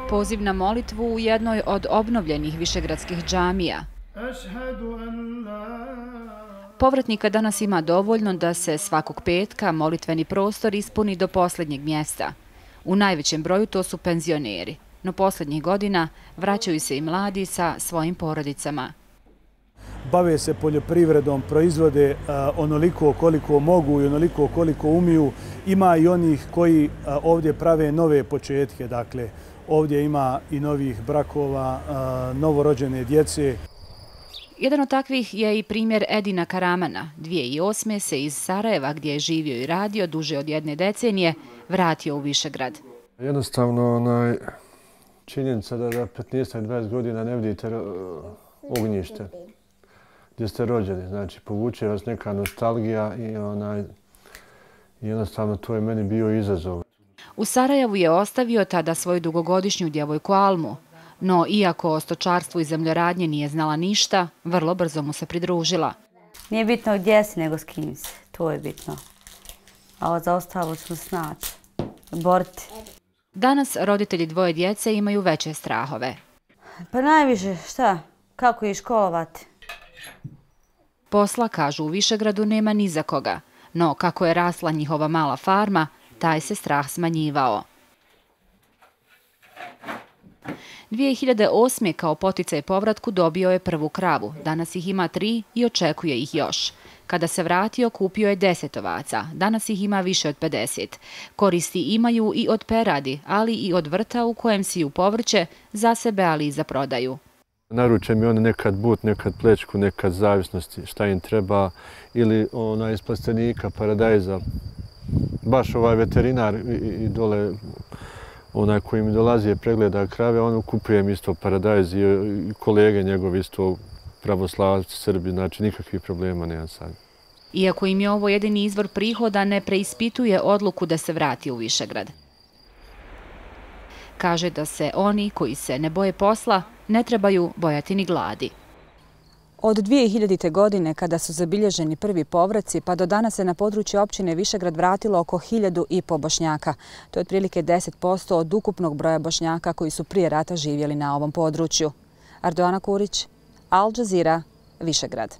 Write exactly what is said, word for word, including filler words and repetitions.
Poziv na molitvu u jednoj od obnovljenih višegradskih džamija. Povratnika danas ima dovoljno da se svakog petka molitveni prostor ispuni do posljednjeg mjesta. U najvećem broju to su penzioneri, no posljednjih godina vraćaju se i mladi sa svojim porodicama. Bave se poljoprivredom, proizvode onoliko koliko mogu i onoliko koliko umiju. Ima i onih koji ovdje prave nove početke, dakle ovdje ima i novih brakova, novorođene djece. Jedan od takvih je i primjer Edina Karamana. dvije hiljade osme. se iz Sarajeva, gdje je živio i radio duže od jedne decenije, vratio u Višegrad. Jednostavno onaj činjenica da za petnaest do dvadeset godina ne vidite ognjište gdje ste rođeni. Znači, povuče vas neka nostalgija i onaj, jednostavno to je meni bio izazov. U Sarajevu je ostavio tada svoju dugogodišnju djevojku Almu, no iako o stočarstvu i zemljoradnje nije znala ništa, vrlo brzo mu se pridružila. Nije bitno gdje si, nego s kim si. To je bitno. A za ostalo ćemo snaći. Boriti. Danas roditelji dvoje djece imaju veće strahove. Pa najviše, šta? Kako ih školovati? Posla, kažu u Višegradu, nema ni za koga, no kako je rasla njihova mala farma, taj se strah smanjivao. dvije hiljade osme. kao poticaj povratku dobio je prvu kravu. Danas ih ima tri i očekuje ih još. Kada se vratio, kupio je deset ovaca. Danas ih ima više od pedeset. Koristi imaju i od peradi, ali i od vrta u kojem siju povrće za sebe, ali i za prodaju. Naruče mi one nekad but, nekad plečku, nekad zavisnosti, šta im treba, ili ona iz plastenika, paradajza. Baš ovaj veterinar i dole, onaj koji mi dolazi je pregleda krave, on kupujem isto paradajz i kolege njegovi isto pravoslavci, Srbi, znači nikakvih problema nema sad. Iako im je ovo jedini izvor prihoda, ne preispituje odluku da se vrati u Višegrad. Kaže da se oni koji se ne boje posla ne trebaju bojati ni gladi. Od dvije hiljadite. godine, kada su zabilježeni prvi povraci, pa do danas se na području općine Višegrad vratilo oko hiljadu i po Bošnjaka. To je otprilike deset posto od ukupnog broja Bošnjaka koji su prije rata živjeli na ovom području. Ardoana Kurić, Al Jazeera, Višegrad.